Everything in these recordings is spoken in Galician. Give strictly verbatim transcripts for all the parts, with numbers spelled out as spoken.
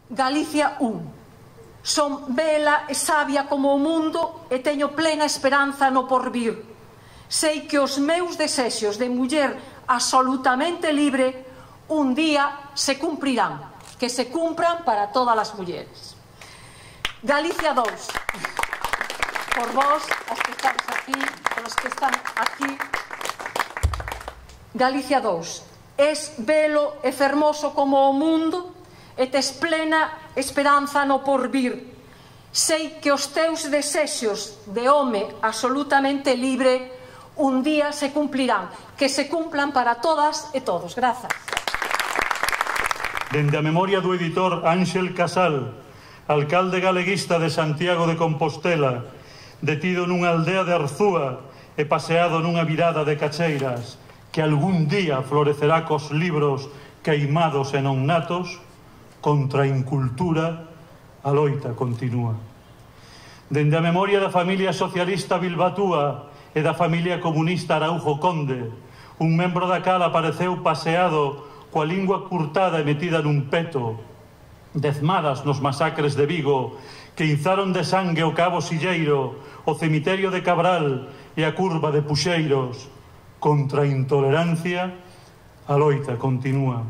Galicia un. Son bela e sabia como o mundo e teño plena esperanza no porvir. Sei que os meus desexos de muller absolutamente libre un día se cumprirán, que se cumpran para todas as mulleres. Galicia dous. Por vós, as que estamos aquí, por os que están aquí. Galicia dous. Es belo e fermoso como o mundo e tes plena esperanza no porvir. Sei que os teus desexos de home absolutamente libre un día se cumplirán, que se cumplan para todas e todos. Grazas. Dende a memoria do editor Ángel Casal, alcalde galeguista de Santiago de Compostela, detido nunha aldea de Arzúa e paseado nunha virada de cacheiras, que algún día florecerá cos libros queimados e non natos, contra a incultura, a loita continúa. Dende a memoria da familia socialista Bilbatúa e da familia comunista Araujo Conde, un membro da cal apareceu paseado coa lingua curtada e metida nun peto, dezmadas nos masacres de Vigo, que inzaron de sangue o Cabo Silleiro, o cemiterio de Cabral e a curva de Puxeiros. Contra a intolerancia, a loita continúa.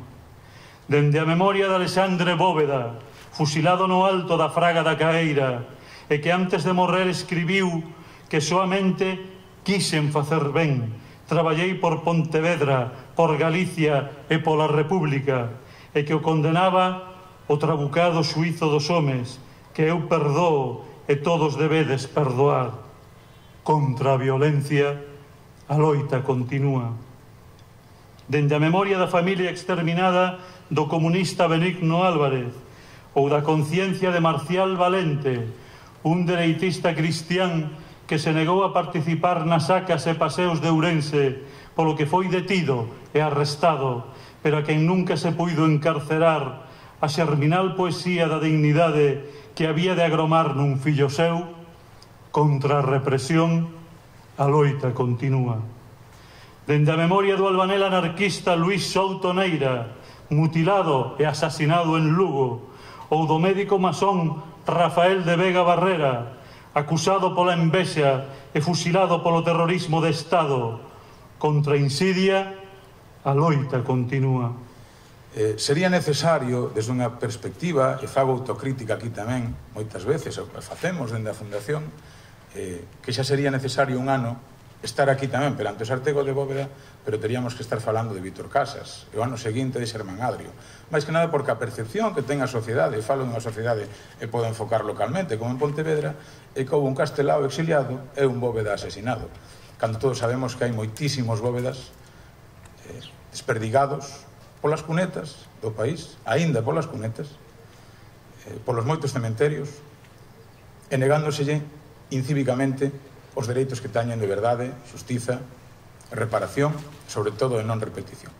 Dende a memoria de Alexandre Bóveda, fusilado no alto da Fraga da Caeira, e que antes de morrer escribiu que soamente quixen facer ben, traballei por Pontevedra, por Galicia e pola República, e que o condenaba o trabucado xuízo dos homes, que eu perdoo e todos debedes perdoar. Contra a violencia, a loita continúa. Dende a memoria da familia exterminada do comunista Benigno Álvarez ou da conciencia de Marcial Valente, un dereitista cristián que se negou a participar nas sacas e paseos de Ourense, polo que foi detido e arrestado, pero a quen nunca se puido encarcerar, a xerminal poesía da dignidade que había de agromar nun fillo seu. Contra a represión, a loita continúa. Dende a memoria do albanel anarquista Luís Souto Neira, mutilado e asasinado en Lugo, ou do médico masón Rafael de Vega Barrera, acusado pola envexa e fusilado polo terrorismo de Estado. Contra a insidia, a loita continúa. Eh, sería necesario, desde unha perspectiva, e fago autocrítica aquí tamén, moitas veces, o que facemos dende a Fundación, eh, que xa sería necesario un ano estar aquí tamén perante o Sartego de Bóveda, pero teríamos que estar falando de Víctor Casas, e o ano seguinte de Xermán Adrio. Mais que nada porque a percepción que ten a sociedade, e falo dunha sociedade e podo enfocar localmente, como en Pontevedra, é que houve un castelao exiliado e un Bóveda asesinado. Cando todos sabemos que hai moitísimos Bóvedas eh, desperdigados polas cunetas do país, aínda polas cunetas, eh, polos moitos cementerios, e negándoselle incívicamente os dereitos que teñen de verdade, xustiza, reparación, sobre todo de non repetición.